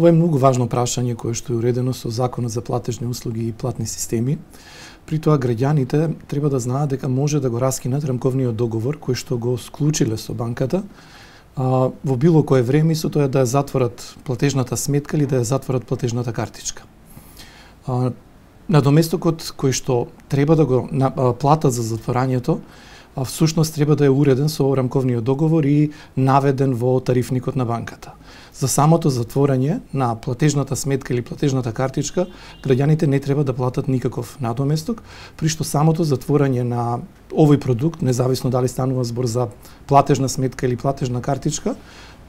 Ова е многу важно прашање кое што е уредено со Законот за платежни услуги и платни системи. При тоа граѓаните треба да знаат дека може да го раскинат рамковниот договор кој што го склучиле со банката во било кое време, со тоа да ја затворат платежната сметка или да ја затворат платежната картичка. Надоместокот кој што треба да го платат за затворањето, всушност треба да е уреден со рамковниот договор и наведен во тарифникот на банката. За самото затворање на платежната сметка или платежната картичка, граѓаните не треба да платат никаков надоместок, при што самото затворање на овој продукт, независно дали станува збор за платежна сметка или платежна картичка,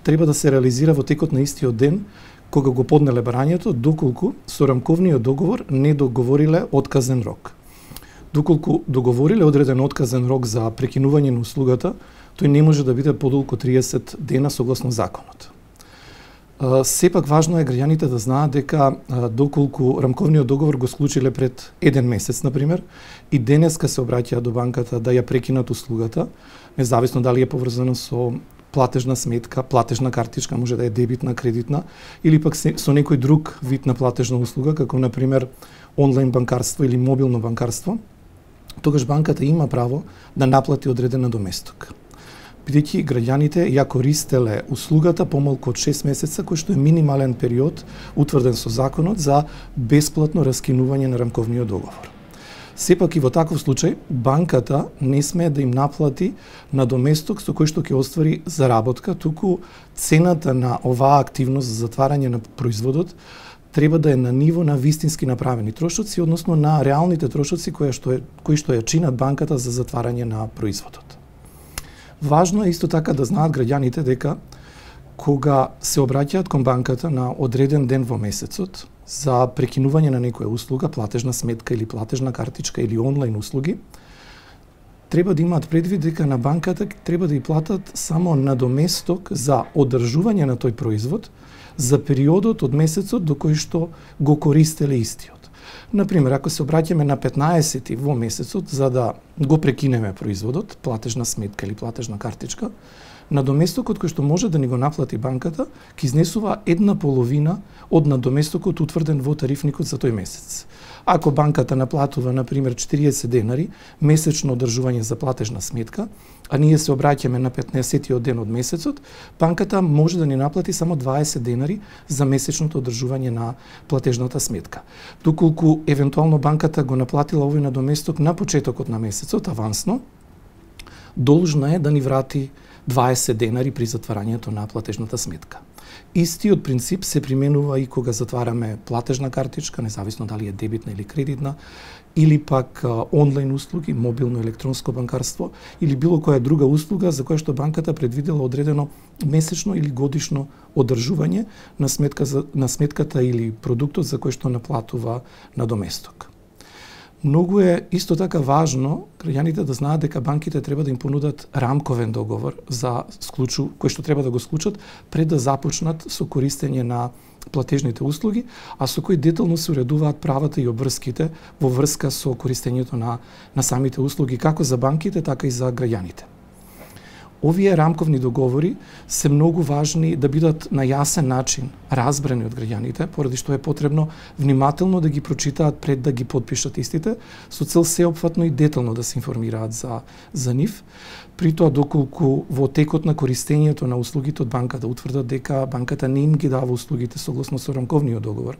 треба да се реализира во текот на истиот ден кога го поднеле барањето, доколку со рамковниот договор не договориле отказен рок. Доколку договориле одреден отказен рок за прекинување на услугата, тој не може да биде подолку 30 дена согласно законот. Сепак важно е граѓаните да знаат дека доколку рамковниот договор го склучиле пред 1 месец, например, и денеска се обраќаат до банката да ја прекинат услугата, независно дали е поврзано со платежна сметка, платежна картичка, може да е дебитна, кредитна, или пак со некој друг вид на платежна услуга, како например онлайн банкарство или мобилно банкарство, тогаш банката има право да наплати одреден надоместок. Бидејќи граѓаните ја користеле услугата помалку од 6 месеца, кој што е минимален период утврден со законот за бесплатно раскинување на рамковниот договор. Сепак и во таков случај, банката не смее да им наплати надоместок со кој што ќе оствари заработка, туку цената на оваа активност за затварање на производот треба да е на ниво на вистински направени трошоци, односно на реалните трошоци кои што ја чинат банката за затварање на производот. Важно е исто така да знаат граѓаните дека кога се обраќаат кон банката на одреден ден во месецот за прекинување на некоја услуга, платежна сметка или платежна картичка или онлайн услуги, треба да имаат предвид дека на банката треба да ја платат само надоместок за одржување на тој производ за периодот од месецот до кој што го користеле истиот. Например, ако се обраќаме на 15 во месецот за да го прекинеме производот, платежна сметка или платежна картичка, надоместокот кој што може да ни го наплати банката ќе изнесува 1/2 од надоместокот утврден во тарифникот за тој месец. Ако банката наплатува, например, 40 денари месечно одржување за платежна сметка, а ние се обраќаме на 15-тиот ден од месецот, банката може да ни наплати само 20 денари за месечното одржување на платежната сметка. Доколку евентуално банката го наплатила овој надоместок на почетокот на месецот, авансно, должна е да ни врати 20 денари при затварањето на платежната сметка. Истиот принцип се применува и кога затвараме платежна картичка, независно дали е дебитна или кредитна, или пак онлайн услуги, мобилно електронско банкарство, или било која друга услуга за која што банката предвидела одредено месечно или годишно одржување на сметката или продуктот за кој што наплатува надоместок. Многу е исто така важно граѓаните да знаат дека банките треба да им понудат рамковен договор за кој што треба да го склучат пред да започнат со користење на платежните услуги, а со кој детално се уредуваат правата и обврските во врска со користењето на самите услуги, како за банките, така и за граѓаните. Овие рамковни договори се многу важни да бидат на јасен начин разбрани од граѓаните, поради што е потребно внимателно да ги прочитаат пред да ги подпишат истите, со цел сеопфатно и детално да се информираат за нив. При тоа, доколку во текот на користењето на услугите од банката утврдат дека банката не им ги дава услугите согласно со рамковниот договор,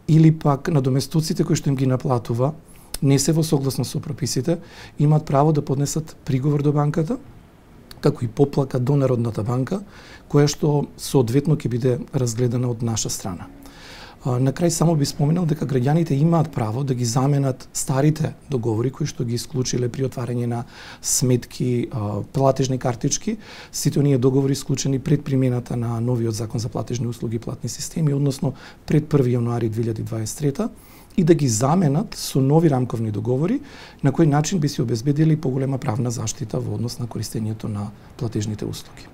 или пак надоместоците кои што им ги наплатува не се во согласно со прописите, имаат право да поднесат приговор до банката, како и поплака до Народната банка, која што соодветно ќе биде разгледана од наша страна. На крај само би споменал дека граѓаните имаат право да ги заменат старите договори кои што ги исклучиле при отварање на сметки, платежни картички, сите оние договори склучени пред примената на новиот закон за платежни услуги и платни системи, односно пред 1 јануари 2023, и да ги заменат со нови рамковни договори, на кој начин би се обезбедили поголема правна заштита во однос на користењето на платежните услуги.